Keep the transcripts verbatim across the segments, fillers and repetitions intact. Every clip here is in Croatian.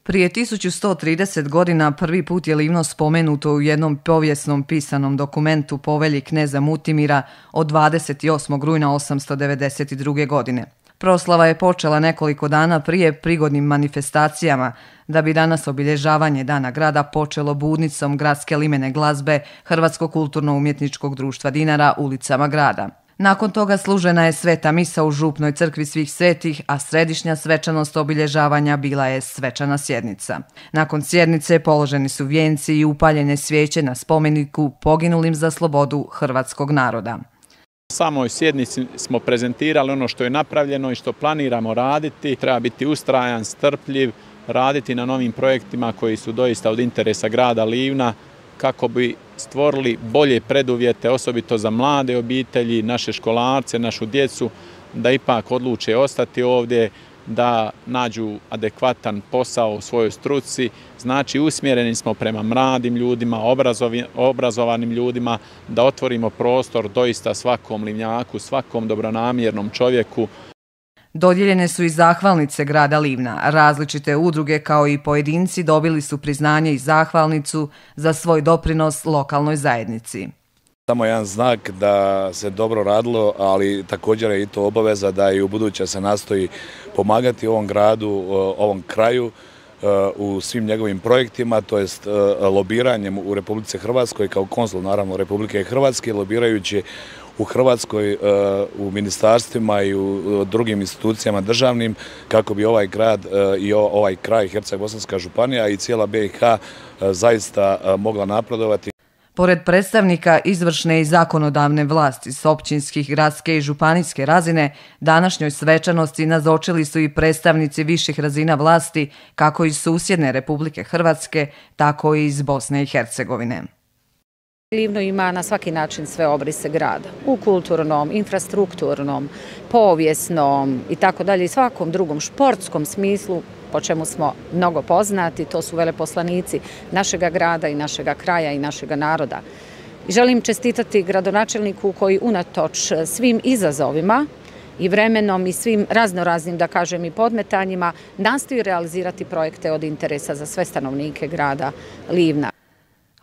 Prije tisuću sto trideset godina prvi put je Livno spomenuto u jednom povijesnom pisanom dokumentu Povelji kneza Mutimira od dvadeset osmog rujna osamsto devedeset druge. godine. Proslava je počela nekoliko dana prije prigodnim manifestacijama, da bi danas obilježavanje Dana grada počelo budnicom gradske limene glazbe Hrvatskog kulturno-umjetničkog društva Dinara ulicama grada. Nakon toga služena je sveta misa u župnoj crkvi svih svetih, a središnja svečanost obilježavanja bila je svečana sjednica. Nakon sjednice položeni su vijenci i upaljene svijeće na spomeniku poginulim za slobodu hrvatskog naroda. U samoj sjednici smo prezentirali ono što je napravljeno i što planiramo raditi. Treba biti ustrajan, strpljiv, raditi na novim projektima koji su doista od interesa grada Livna, kako bi stvorili bolje preduvjete, osobito za mlade obitelji, naše školarce, našu djecu, da ipak odluče ostati ovdje, da nađu adekvatan posao u svojoj struci. Znači, usmjereni smo prema mladim ljudima, obrazovanim ljudima, da otvorimo prostor doista svakom Livnjaku, svakom dobronamjernom čovjeku. Dodijeljene su i zahvalnice grada Livna. Različite udruge kao i pojedinci dobili su priznanje i zahvalnicu za svoj doprinos lokalnoj zajednici. Samo jedan znak da se dobro radilo, ali također je i to obaveza da i u buduće se nastoji pomagati ovom gradu, ovom kraju u svim njegovim projektima, to jest lobiranjem u Republici Hrvatskoj kao konsul naravno Republike Hrvatske, lobirajući u Hrvatskoj, u ministarstvima i u drugim institucijama državnim, kako bi ovaj grad i ovaj kraj, Herceg-Bosanska županija i cijela B i H zaista mogla napredovati. Pored predstavnika izvršne i zakonodavne vlasti s općinskih, gradske i županijske razine, današnjoj svečanosti nazočili su i predstavnici viših razina vlasti, kako iz susjedne Republike Hrvatske, tako i iz Bosne i Hercegovine. Livno ima na svaki način sve obrise grada, u kulturnom, infrastrukturnom, povijesnom i tako dalje i svakom drugom športskom smislu, po čemu smo mnogo poznati, to su veleposlanici našega grada i našega kraja i našega naroda. I želim čestitati gradonačelniku koji unatoč svim izazovima i vremenom i svim raznoraznim, da kažem, i podmetanjima nastoji realizirati projekte od interesa za sve stanovnike grada Livna.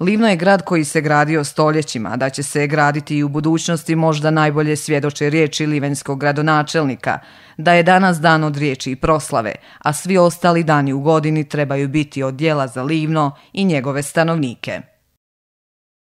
Livno je grad koji se gradio stoljećima, da će se graditi i u budućnosti možda najbolje svjedoče riječi livenskog gradonačelnika, da je danas dan od riječi i proslave, a svi ostali dani u godini trebaju biti od djela za Livno i njegove stanovnike.